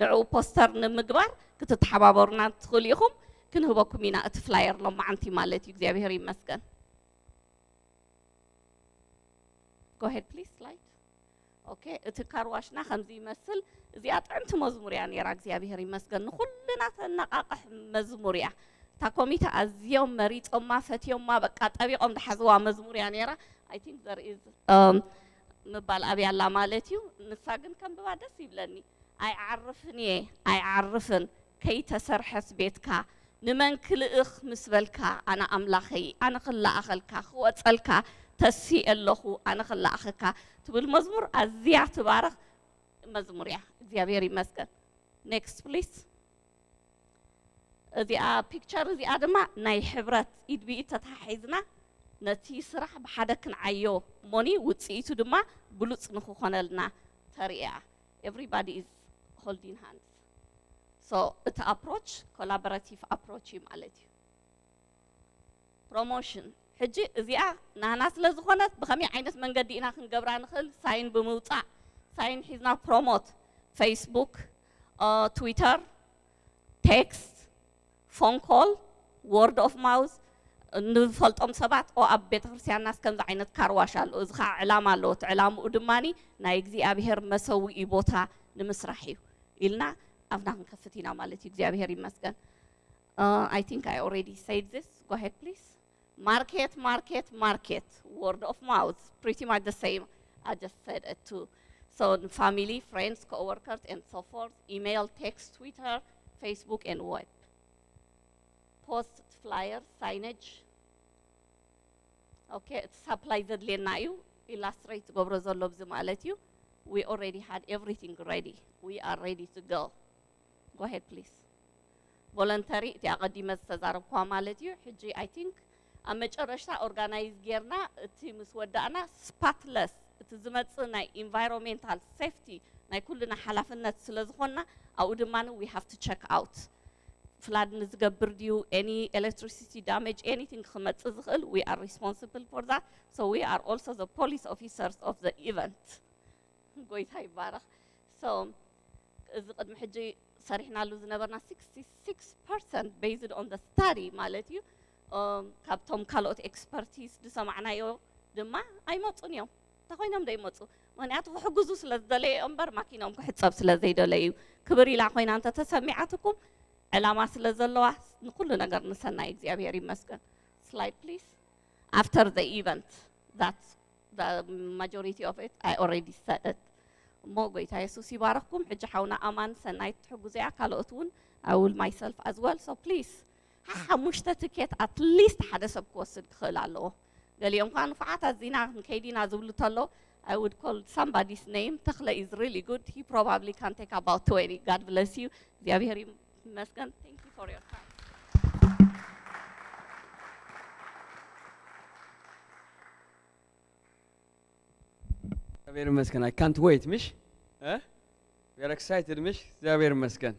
ንዕኡ ፖስተር ንምግባር ክትተሓባበሩና ትኽእሉ ኢኹም። ክንህበኩም ኢና እቲ ፍላየር ሎማዓንቲ ማለት እዩ። እግዚኣብሔር ይመስገን። Go ahead, please, slide. ኦኬ፣ እቲ ካርዋሽና ከምዚ ይመስል። እዚኣ ጥዕምቲ መዝሙር እያ ነይራ። እግዚኣብሔር ይመስገን። ንኹልና ተነቃቅሕ መዝሙር እያ። እታ ኮሚተ ኣዝዮም መሪጾማ፣ ፈትዮማ፣ በቃ ጠቢቆም ዝሓዝዋ መዝሙር እያ ነይራ። I think there is, um፣ ምባል ኣብያ ኣላ ማለት እዩ። ንሳ ግን ከንብባ ደስ ይብለኒ። ኣይዓርፍን እየ፣ ኣይዓርፍን፣ ከይተሰርሐስ ቤትካ፣ ንመን ክልእኽ ምስ በልካ፣ ኣነ ኣምላኸይ፣ ኣነ ክለኣኸልካ፣ ክወጸልካ ተሲኤ ኣለኹ፣ ኣነ ክለኣኸካ ትብል መዝሙር ኣዝያ ትባርኽ መዝሙር እያ። እግዚኣብሔር ይመስገን። ኔክስት ፕሊስ። እዚኣ ፒክቸር እዚኣ ድማ ናይ ሕብረት ኢድ ብኢድ ተተሓሒዝና ነቲ ስራሕ ብሓደ ክንዓዮ እሞኒ ውፅኢቱ ድማ ብሉፅ ንክኾነልና ተርእያ። Everybody is holding hands. So እቲ approach collaborative approach እዩ ማለት እዩ። Promotion ሕጂ እዚኣ ናህና ስለ ዝኾነት ብኸመይ ዓይነት መንገዲ ኢና ክንገብራ ንኽእል? ሳይን ብምውፃእ፣ ሳይን ሒዝና ፕሮሞት፣ ፌስቡክ፣ ትዊተር፣ ቴክስት፣ ፎን ኮል፣ ወርድ ኦፍ ማውዝ፣ ንፈልጦም ሰባት፣ ኦ ኣብ ቤተ ክርስቲያንናስ ከምዚ ዓይነት ካርዋሽ ኣሎ፣ እዚ ከዓ ዕላማ ኣለዎ፣ እቲ ዕላምኡ ድማ ናይ እግዚኣብሔር መሰውኢ ቦታ ንምስራሕ እዩ ኢልና ኣፍና ክንከፍት ኢና ማለት እዩ። እግዚኣብሔር ይመስገን። Uh, I think I already said this. Go ahead, please. Market, market, market. Word of mouth, pretty much the same. I just said it too. So family, friends, co-workers, and so forth. Email, text, Twitter, Facebook, and web. Post, flyer, signage. Okay, supply ዘድልየና እዩ። Illustrate ትገብሮ ዘሎ ብዚ ማለት እዩ። We already had everything ready. We are ready to go. Go ahead, please. ቮለንተሪ እቲ ኣቐዲመ ዝተዛረብኳ ማለት እዩ። ሕጂ I think ኣብ መጨረሽታ ኦርጋናይዝ ጌርና እቲ ምስ ወዳእና ስፓትለስ እቲ ዝመጽእ ናይ ኢንቫይሮንሜንታል ሴፍቲ ናይ ኩልና ሓላፍነት ስለ ዝኾንና ኣብኡ ድማ we have to check out። ፍላድ ንዝገብር ድዩ any electricity damage anything ክመጽእ ዝኽእል we are responsible for that. So we are also the police officers of the event. ጎይታ ይባረኽ። So እዚ ቅድሚ ሕጂ ሰሪሕናሉ ዝነበርና sixty-six percent based on the study ማለት እዩ። እም፣ ካብቶም ካልኦት ኤክስፐርቲስ ዝሰማዕናዮ ድማ ኣይመፁን እዮም። እንታይ ኮይኖም ዶ ይመፁ? ምክንያቱ ክሕግዙ ስለ ዝደለዩ እዮም እምበር ማኪኖም ክሕፀብ ስለ ዘይደለዩ። ክብር ኢላ ኮይና እንተተሰሚዓትኩም ዕላማ ስለ ዘለዋ ንኩሉ ነገር ንሰናይ እግዚኣብሔር ይመስገን። Slide please. After the event, that's the majority of it, I already said it. እሞ ጎይታ የሱስ ይባረኽኩም። ሕጂ ሓውና ኣማን ሰናይት ትሕጉዘያ ካልኦት እውን I will myself as well. So please ሓሙሽተ ትኬት at least ሓደ ሰብ ክወስድ ክኽእል ኣለዎ። ገሊኦም ከዓ ንፉዓት ኣዚና ክንከይድ ኢና ዝብሉ ተሎ I would call somebody's name. ተኽለ is really good. He probably can take about twenty. God bless you. እግዚኣብሔር ይመስገን. Thank you for your time. እግዚኣብሔር ይመስገን። I can't wait ምሽ እ? We are excited ምሽ? እግዚኣብሔር ይመስገን።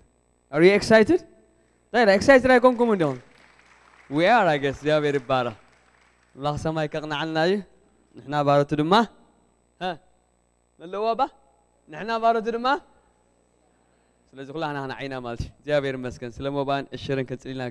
Are you excited? ዳይራ excited ኣይኮንኩም እንዲኹም? We are I guess። እግዚኣብሔር ይባረኽ። ኣምላኽ ሰማይ ከቕንዓልና እዩ። ንሕና ባሮቱ ድማ እ? ነለዎ ባ ንሕና ባሮቱ ድማ ስለዚ ኩላህና ንዓይና ማለት እዩ። እግዚኣብሔር ይመስገን። ስለ ሞባን እሽርን ከጽልና